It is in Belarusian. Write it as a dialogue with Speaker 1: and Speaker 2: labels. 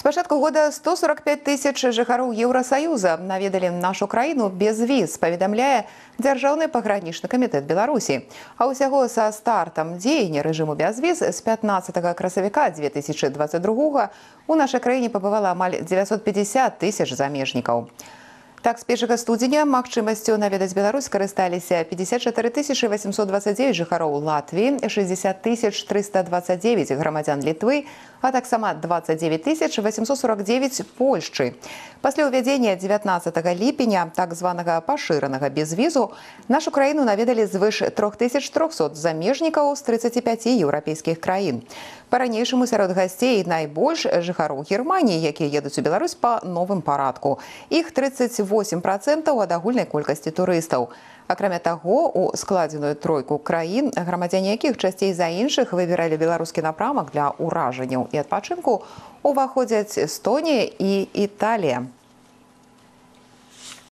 Speaker 1: С пачатку года 145 тысяч жыхароў Еўрасаюза наведалі нашу краіну без віз, паведамляе Дзяржаўны пагранічны камітэт Беларусі. А ўсяго са стартам дзеяння рэжыму без віз з 15 красавіка 2022 у нашай краіне пабывала амаль 950 тысяч замежнікаў. Так, з 1 студзеня магчымасцю наведаць Беларусь скарысталіся 54 829 жыхароў Латвіі, 60 329 грамадзян Літвы, а таксама 29 849 Польшчы. Пасля ўвядзення 19 ліпеня так званага пашыранага безвізу нашу краіну наведалі звыш 3300 замежнікаў з 35 еўрапейскіх краін. Па-ранейшаму сярод гасцей найбольш жыхароў Германіі, якія едуць у Беларусь па новым парадку. Іх 38% ад агульнай колькасці турыстаў. Акрамя таго, у складзеную тройку краін, грамадзяне якіх часцей за іншых выбіралі беларускі напрамак для ўражанняў і адпачынку, уваходзяць Эстонія і Італія.